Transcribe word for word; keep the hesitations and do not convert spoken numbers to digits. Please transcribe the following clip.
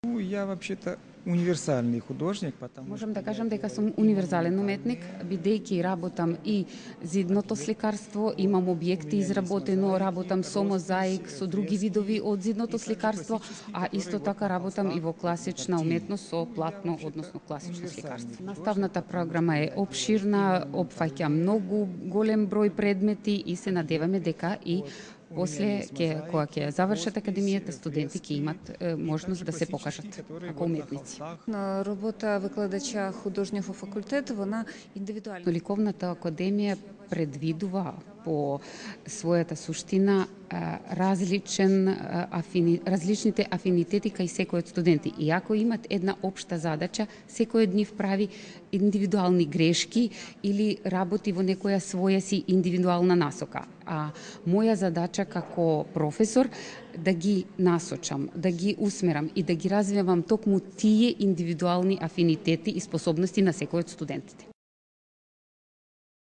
Ну, я вообще-то универсальный художник, потому Можам что да я кажам дека делаю сум и универзален монументальные уметник, бидејќи работам и зидното сликарство, имам објекти изработено, работам со мозаик, со други видови од зидното сликарство, а исто така работам и во класична уметност со платно, односно класично сликарство. Наставната програма е обширна, опфаќа многу голем број предмети и се надеваме дека и после ќе кога ќе завршат академијата, студенти ќе имат е, можност да се покажат како уметници. Робота викладача художњев факултет, вона индивидуална. Ликовната академија предвидува по својата суштина различен афини, различните афинитети кај секој од студенти. И ако имат една општа задача, секој од нив прави индивидуални грешки или работи во некоја своја си индивидуална насока. А моја задача како професор да ги насочам, да ги усмерам и да ги развивам токму тие индивидуални афинитети и способности на секој од студентите.